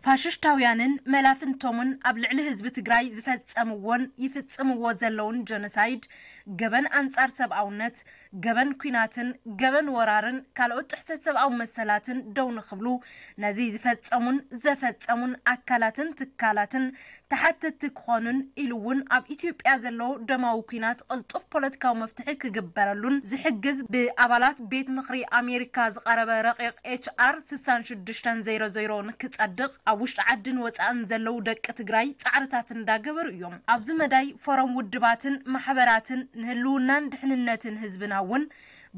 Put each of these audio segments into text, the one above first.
ፋሽሽታውያንን መላፍንቶምን ኣብ ልዕሊ ህዝቢ ትግራይ ዝፈጸምዎን ይፍጽምዎ ዘለውን ጀኖሳይድ፣ ገበን ኣንጻር ሰብኣውነት፣ ገበን ኲናትን ገበን ወራርን ካልኦት ጥሕሰት ሰብኣዊ መሰላትን ደው ንኽብሉ፣ ነዚ ዝፈጸሙን ዘፈጸሙን ኣካላትን ትካላትን ተሓተትቲ ክኾኑን ኢሉ እውን ኣብ ኢትዮጵያ ዘሎ ደማዊ ኲናት ቅልጡፍ ፖለቲካዊ መፍትሒ ክግበረሉን ዝሕግዝ ብኣባላት ቤት ምኽሪ ኣሜሪካ ዝቐረበ ረቂቕ ኤች ኣር ስሳን ሽዱሽተን ዜሮ ዜሮ ንክጸድቕ ኣብ ውሽጢ ዓድን ወጻእን ዘለዉ ደቂ ትግራይ ጻዕርታት እንዳገበሩ እዮም። ኣብዚ መዳይ ፎረም ውድባትን ማሕበራትን ንህልውናን ድሕንነትን ህዝብና እውን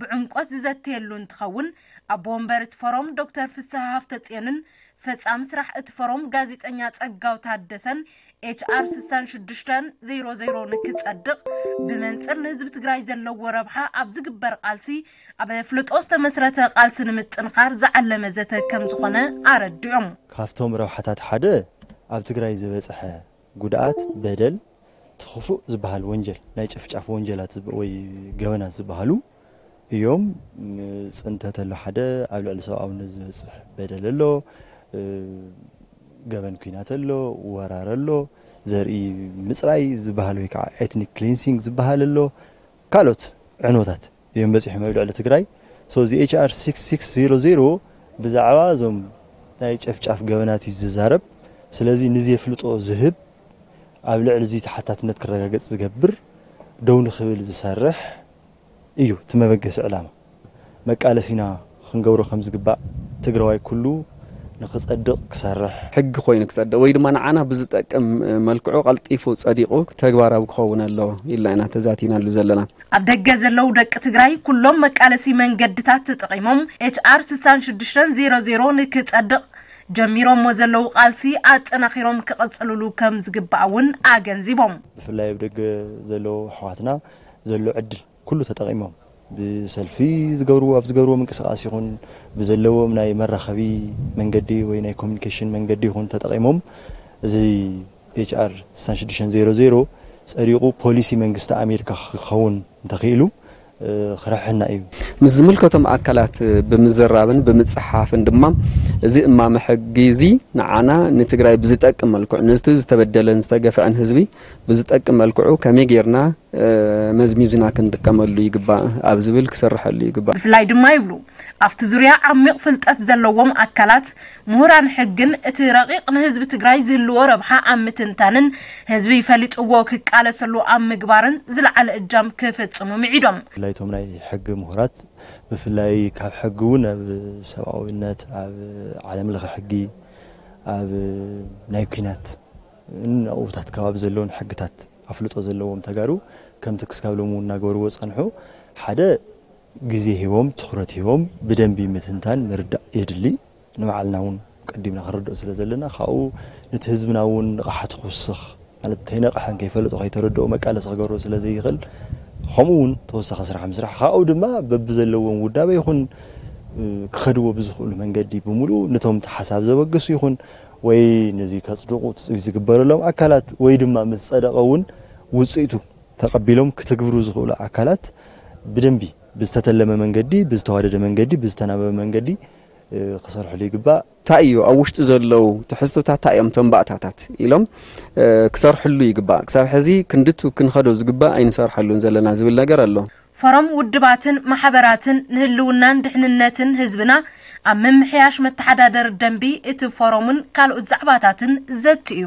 ብዕምቆት ዝዘተየሉ እንትኸውን፣ ኣቦ ወንበር እቲ ፎረም ዶክተር ፍስሃ ሃፍተጽዮንን ፈጻሚ ስራሕ እቲ ፎረም ጋዜጠኛ ጸጋው ታደሰን ኤች ኣር ስሳን ሽዱሽተን ዜሮ ዜሮ ንክጸድቕ ብመንጽር ንህዝቢ ትግራይ ዘለዎ ረብሓ ኣብ ዝግበር ቃልሲ ኣብ ኣፍልጦ ዝተመስረተ ቃልሲ ንምጥንኻር ዝዓለመ ዘተ ከም ዝኾነ ኣረዲኦም። ካብቶም ረብሓታት ሓደ ኣብ ትግራይ ዝበፅሐ ጉድኣት፣ በደል፣ እቲ ክፉእ ዝበሃል ወንጀል፣ ናይ ጨፍጫፍ ወንጀላት ዝብ- ወይ ገበናት ዝበሃሉ እዮም። ም- ፅንተት ኣሎ፣ ሓደ ኣብ ልዕሊ ሰብኣውነት ዝበፅሕ በደል ኣሎ፣ እ፣ ገበን ኲናት ኣሎ፣ ወራር ኣሎ፣ ዘርኢ ምፅራይ ዝበሃል ወይ ከዓ ኤትኒክ ክሊንሲንግ ዝበሃል ኣሎ፣ ካልኦት ዕንወታት እዮም በፂሖም ኣብ ልዕሊ ትግራይ። So እዚ ኤች ኣር ስክስ ሲክስ ዜሮ ዜሮ ብዛዕባ እዞም ናይ ጨፍጫፍ ገበናት እዩ ዝዛረብ። ስለዚ ንዚ የፍልጦ ዝህብ፣ ኣብ ልዕሊ እዚ ተሓታትነት ክረጋገፅ ዝገብር፣ ደው ንክብል ዝሰርሕ እዩ እቲ መበገሲ ዕላማ። መቃለሲና ክንገብሮ ከም ዝግባእ ትግራዋይ ኩሉ ንክፀድቕ ክሰርሕ። ሕጊ ኮይኑ ክፀድቕ ወይ ድማ ንዓና ብዝጠቅም መልክዑ ቀልጢፉ ፀዲቑ ተግባራዊ ክኸውን ኣለዎ ኢልና ኢና ተዛቲናሉ ዘለና። ኣብ ደገ ዘለዉ ደቂ ትግራይ ኩሎም መቃለሲ መንገድታት ተጠቒሞም ኤች ኣር ስሳን ሽዱሽተን ዜሮ ዜሮ ንክፀድቕ ጀሚሮሞ ዘለዉ ቃልሲ ኣጠናኺሮም ክቕፅልሉ ከም ዝግባእ እውን ኣገንዚቦም። ብፍላይ ኣብ ደገ ዘለዉ ኣሕዋትና ዘሎ ዕድል ኩሉ ተጠቒሞም ብሰልፊ ዝገብርዎ፣ ኣብ ዝገብርዎ ምንቅስቃስ ይኹን ብዘለዎም ናይ መራኸቢ መንገዲ ወይ ናይ ኮሚኒኬሽን መንገዲ ይኹን ተጠቒሞም እዚ ኤች ኣር ስሳን ሽዱሽተን ዜሮ ዜሮ ጸዲቑ ፖሊሲ መንግስቲ ኣሜሪካ ክኸውን እንተኽኢሉ፣ እ፣ ክረሕና እዩ። ምስ ዝምልከቶም ኣካላት ብምዝራብን ብምጽሓፍን ድማ እዚ እማመ ሕጊ እዚ ንዓና ንትግራይ ብዝጠቅም መልክዑ፣ ነቲ ዝተበደለን ዝተገፍዐን ህዝቢ ብዝጠቅም መልክዑ ከመይ ጌርና፣ እ፣ መዝሚዝና ክንጥቀመሉ ይግባእ ኣብ ዝብል ክስርሐሉ ይግባእ። ብፍላይ ድማ ይብሉ፣ ኣብቲ ዙርያ ዓሚቕ ፍልጠት ዘለዎም ኣካላት፣ ምሁራን ሕግን እቲ ረቂቕ ንህዝቢ ትግራይ ዝህልዎ ረብሓ ኣብ ምትንታንን ህዝቢ ፈሊጥዎ ክቃለሰሉ ኣብ ምግባርን ዝለዓለ እጃም ክፍጽሙ ምዒዶም። ብፍላይ እቶም ናይ ሕጊ ምሁራት፣ ብፍላይ ካብ ሕጊ እውን ኣብ ሰብኣዊነት፣ ኣብ ዓለም ለኸ ሕጊ፣ ኣብ ናይ ኲናት ንኡታት ከባቢ ዘለውን ሕግታት ኣፍልጦ ዘለዎም ተጋሩ ከምቲ ክስካብ ሎሚ እውን እናገበርዎ ጸንሑ፣ ሓደ ግዜ ሂቦም ትኹረት ሂቦም ብደንቢ ምትንታን ምርዳእ የድሊ። ንባዕልና እውን ቀዲምና ክንርድኦ ስለ ዘለና፣ ካብኡ ነቲ ህዝብና እውን ንቕሓቱ ክውስኽ፣ ማለት እንተይነቕሐን ከይፈለጦ ከይተረድኦ መቃለሲ ክገብሮ ስለ ዘይኽእል፣ ከምኡ እውን ተወሳኺ ስራሕ ምስራሕ፣ ካብኡ ድማ በብዘለዎም ውዳበ ይኹን፣ እ፣ ክኸድዎ ብዝኽእሉ መንገዲ ብምሉኡ ነቶም እቲ ሓሳብ ዘበገሱ ይኹን ወይ ነዚ ከጽድቑ ትጽቢት ዝግበረሎም ኣካላት ወይ ድማ ምስ ጸደቐ እውን ውጽኢቱ ተቐቢሎም ክትግብሩ ዝኽእሉ ኣካላት ብደንቢ ብዝተተለመ መንገዲ፣ ብዝተዋደደ መንገዲ፣ ብዝተናበበ መንገዲ፣ እ፣ ክሰርሕሉ ይግባእ። እንታይ እዩ ኣብ ውሽጢ ዘለዉ ትሕዝቶታት፣ እንታይ እዮም እቶም ባእታታት ኢሎም፣ እ፣ ክሰርሕሉ ይግባእ። ክሳብ ሕዚ ክንድቱ ክንኸዶ ዝግባእ ኣይንሰርሐሉን ዘለና ዝብል ነገር ኣሎ። ፎረም ውድባትን ማሕበራትን ንህልውናን ድሕንነትን ህዝብና ኣብ ምምሕያሽ መተሓዳደሪ ደንቢ እቲ ፎረምን ካልኦት ዛዕባታትን ዘትዩ።